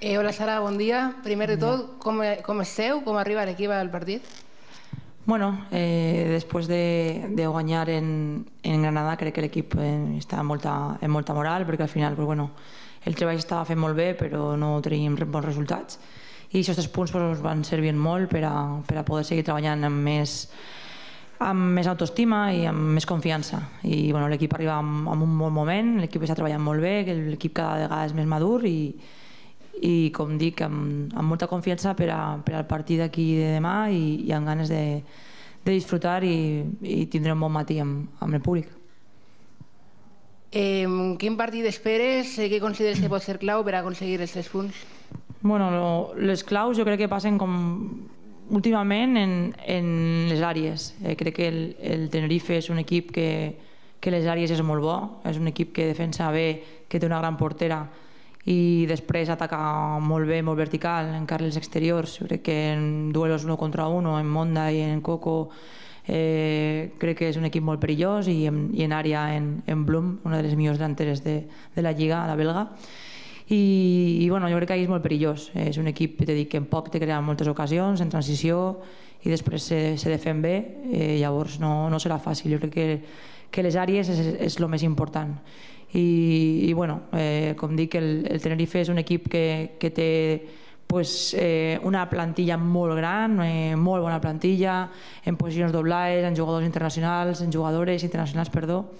Hola Sara, bon dia. Primer de tot, com esteu? Com arriba l'equip al partit? Bueno, después de guanyar en Granada, crec que l'equip està en molta moral, perquè al final el treball estava fent molt bé, però no teníem bons resultats. I aquests punts ens van servir molt per a poder seguir treballant amb més autoestima i amb més confiança. I l'equip arriba en un bon moment, l'equip està treballant molt bé, l'equip cada vegada és més madur i com dic, amb molta confiança per al partit d'aquí de demà i amb ganes de disfrutar i tindre un bon matí amb el públic. Quin partit esperes? Què consideres que pot ser clau per aconseguir els 3 punts? Les claus jo crec que passen com últimament en les àrees. Crec que el Tenerife és un equip que les àrees és molt bo, és un equip que defensa bé, que té una gran portera i després ataca molt bé, molt vertical, en carrils exteriors. Jo crec que en duelos 1 contra 1, en Monda i en Coco, crec que és un equip molt perillós i en àrea en Blum, una de les millors delanteres de la Lliga, la belga. I jo crec que ahir és molt perillós. És un equip que en poc té creat moltes ocasions, en transició, i després se defen bé, llavors no serà fàcil. Jo crec que les àrees és el més important. I com dic, el Tenerife és un equip que té una plantilla molt gran, molt bona plantilla, en posicions doblades, en jugadors internacionals, en jugadores internacionals, perdó.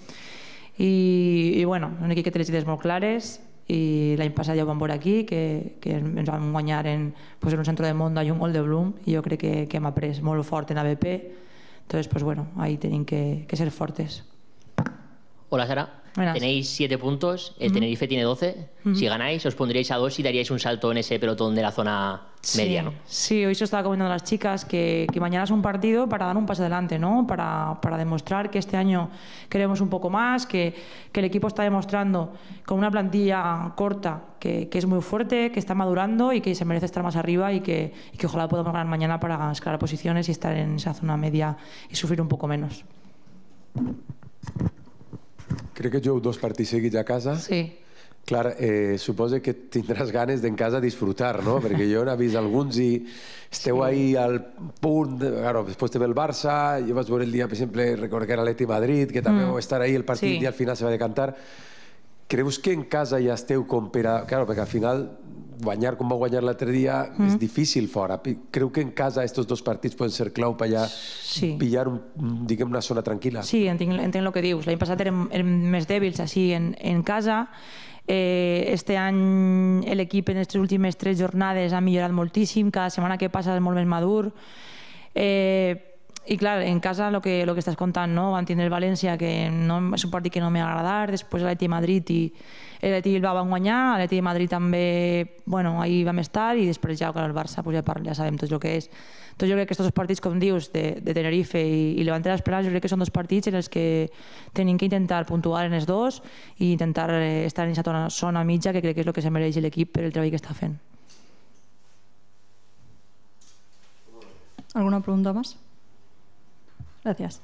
I un equip que té les idees molt clares, i l'any passat ja ho vam veure aquí, que ens vam guanyar en un centre de Monda i un gol de Blum, i jo crec que hem après molt fort en ABP. Entonces, ahí tenim que ser fortes. Hola Sara, tenéis 7 puntos, el Tenerife tiene 12. Si ganáis os pondríais a 2 y daríais un salto en ese pelotón de la zona media, ¿no? Sí, hoy se estaba comentando a las chicas que mañana es un partido para dar un paso adelante, ¿no? Para demostrar que este año queremos un poco más, que el equipo está demostrando con una plantilla corta que es muy fuerte, que está madurando y que se merece estar más arriba y que ojalá podamos ganar mañana para escalar posiciones y estar en esa zona media y sufrir un poco menos. Crec que jugueu 2 partits seguits a casa. Sí. Clar, suposo que tindràs ganes d'en casa disfrutar, no? Perquè jo n'he vist alguns i esteu ahí al punt, després te ve el Barça, jo vaig veure el dia, per exemple, recordo que era l'Atleti Madrid, que també vau estar ahí el partit i al final se va decantar. Creus que en casa ja esteu com per a... Clar, perquè al final guanyar com va guanyar l'altre dia és difícil fora. Creu que en casa aquests 2 partits poden ser clau per allà pillar una zona tranquil·la? Sí, entenc el que dius. L'any passat érem més dèbils així en casa. Este any l'equip en aquestes últimes 3 jornades ha millorat moltíssim, cada setmana que passa és molt més madur. I clar, en casa el que estàs contant, van tindre el València, que és un partit que no m'ha agradat, després l'Atleti Madrid i l'Atleti Bilbao van guanyar, l'Atleti Madrid també, ahir vam estar, i després ja el Barça ja sabem tot el que és. Doncs jo crec que aquests 2 partits, com dius, de Tenerife i Levante Las Penas, jo crec que són 2 partits en els que tenim que intentar puntuar en els 2 i intentar estar en aquesta zona mitja, que crec que és el que se mereix l'equip per el treball que està fent. ¿Alguna pregunta más? Gracias.